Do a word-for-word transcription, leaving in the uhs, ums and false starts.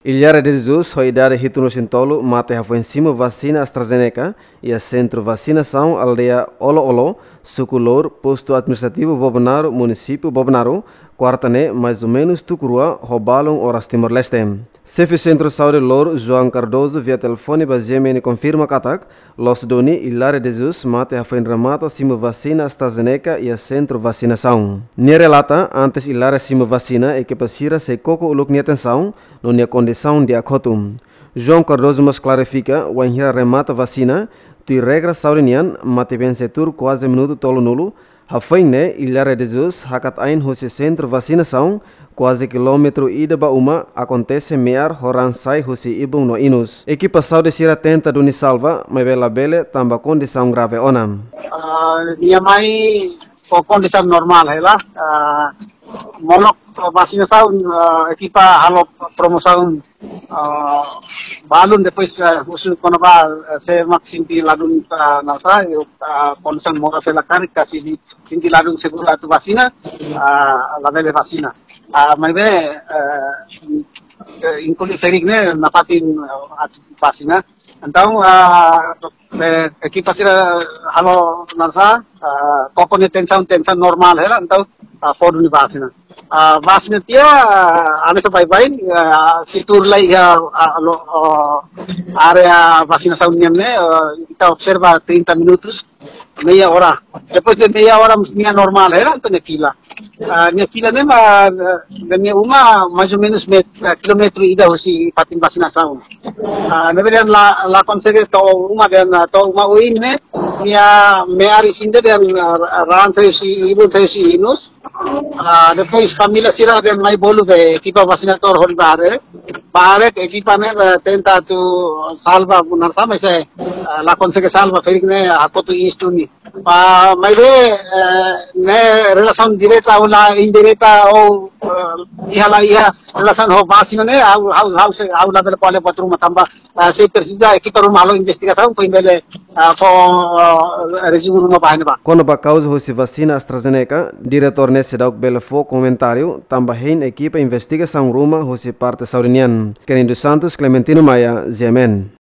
Ilhara de Jesus, ho idade hitunulu-resin-tolu, mate hafoin simu vasina AstraZeneca iha sentru vasinasaun aldeia Olo-Olo, suku Lour, postu administrativu Bobonaro, munisípiu Bobonaro, kuarta ne'e, mais ou menus tuku rua ho balun oras Timor-Leste. Xefe Sentru Saúde Lour, João Cardoso, via telefone ba G M N konfirma katak, loos duni Ilhara de Jesus mate hafoin remata simu vasina AstraZeneca iha sentru vasinasaun. Nia relata, antes Ilhara simu vasina, ekipa sira sei koko uluk nia tensaun, no nia kondisaun di'ak hotu. João Cardoso mós klarifika, wainhira remata vasina, tuir regra saúde nian, mate-been sei tuur kuaze minutu tolunulu, hafoin ne'e Ilhara de Jesus hakat ain husi sentru vasinasaun, kuaze kilómetru ida ba uma, akontese me'ar ho raan sai husi ibun no inus. Ekipa saúde sira tenta duni salva, maibé labele tanba kondisaun grave ona. Ah, nia mai ho kondisaun normál hela. Ah, molok vasinasaun, ah, ekipa halo promosaun, ah, balun, depois, ah, husu kona-ba, ah, se mak sente ladún, ah, nasa, ah, kondisaun moras hela karik, ka sente, sente ladún seguru atu vasina, ah, labele vasina. Ah, maibé, ah, eh, inklui ferik ne'e nafatin, ah, atu vasina. Entaun, ah, eh, ekipa sira halo nasa, ah, koko nia tensaun, tensaun normál hela, entaun, ah, fó duni vasina. Ah, vasina tiha, ah, hanesan baibain, ah, sei tuur lai iha, ah, lo, oh, área vasinasaun nian ne'e, ah, ita observa trinta minutus, meia ora. Depois de meia ora, nia normál hela, entaun nia fila. Ah, nia fila ne'e mak, ah, nia uma mais ou menus met-, ah, kilómetru ida husi fatin vasinasaun. Ah, ne'ebé dehan la, la konsege to'o uma, dehan, ah, to'o uma oin ne'e, nia me'ar isin de'it dehan, ah, raan sai husi ibun, sai husi inus. Ah, depois família sira dehan mai bolu be ekipa vasinadór hodi bá haree. Bá haree ekipa ne'e, eh, tenta atu salva bunar sama se, eh, la konsege salva, ferik ne'e hakotu inus duni. Ba, maibé, eh, ne'e relasaun direta ou la indireta ou, eh, iha la iha relasaun ho vasina ne'e, ha'u, ha'u, ha'u sei, ha'u labele ko'alia buat ruma tanba, eh, sei presiza ekipa ruma halo investigasaun, foin bele, eh, fó, eh, rezumu ruma ba ne'ebá. Kona-ba kauza husi vasina AstraZeneca, diretór ne'e seidauk bele fó komentáriu, tanba hein ekipa investigasaun ruma husi parte saúde nian. Kennedy Santos, Clementino Maia, G M N.